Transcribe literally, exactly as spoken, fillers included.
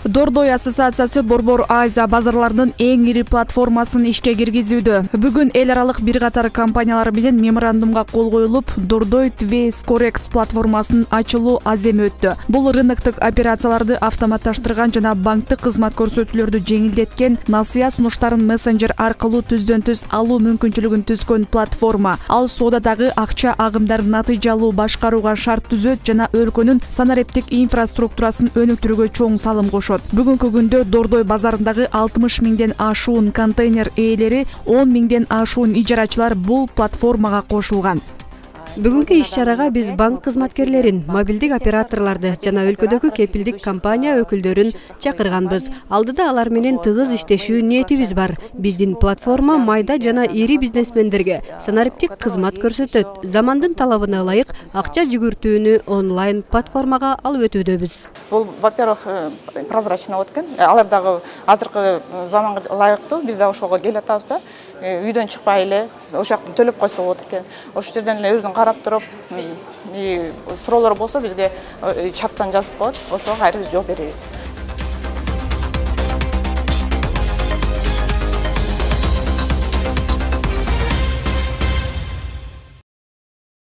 Дордой ассоциациясы Борбор Азия базарларынын эң ири платформасын ишке киргизүүдө. Бүгүн эл аралык бир катар компаниялар менен меморандумга кол коюлуп, Дордой Твейс Корекс платформасынын ачылуу аземи өттү. Бул рыноктук операцияларды автоматташтырган жана банктык кызмат көрсөтүүлөрдү жеңилдеткен, насыя сунуштарын мессенджер аркылуу түздөн түз алуу мүмкүнчүлүгүн түзгөн платформа. Ал соодадагы акча агымдарын натыйжалуу башкарууга шарт түзөт жана өлкөнүн санариптик инфраструктурасын өнүктүрүүгө чоң салым кошот. Бүгүнкү күндө Дордой базарындагы алтымыш миңден ашуун контейнер ээлери, он миңден ашуун ижарачылар бул платформага кошулган. Бүгүнкү иш-чарага биз банк кызматкерлерин, мобилдик операторлорду жана өлкөдөгү кепилдик компания өкүлдөрүн чакырганбыз. Алдыда алар менен тыгыз иштешүү ниетибиз бар. Биздин платформа майда жана ири бизнесмендерге санариптик кызмат көрсөтөт. Замандын талабына ылайык акча жүгүртүүнү онлайн платформага алып өтүүдөбүз. Бул, во-первых, прозрачно өткөн. Алар дагы азыркы заманга ылайыктуу. Биз да ошого келатабыз да. Үйдөн чыкпай эле ошол жакта төлөп койсо болот экен. Ошол жерден эле өзүң карап туруп, суроолор болсо бизге чаттан жазып коет. Ошого кайра биз жооп беребиз.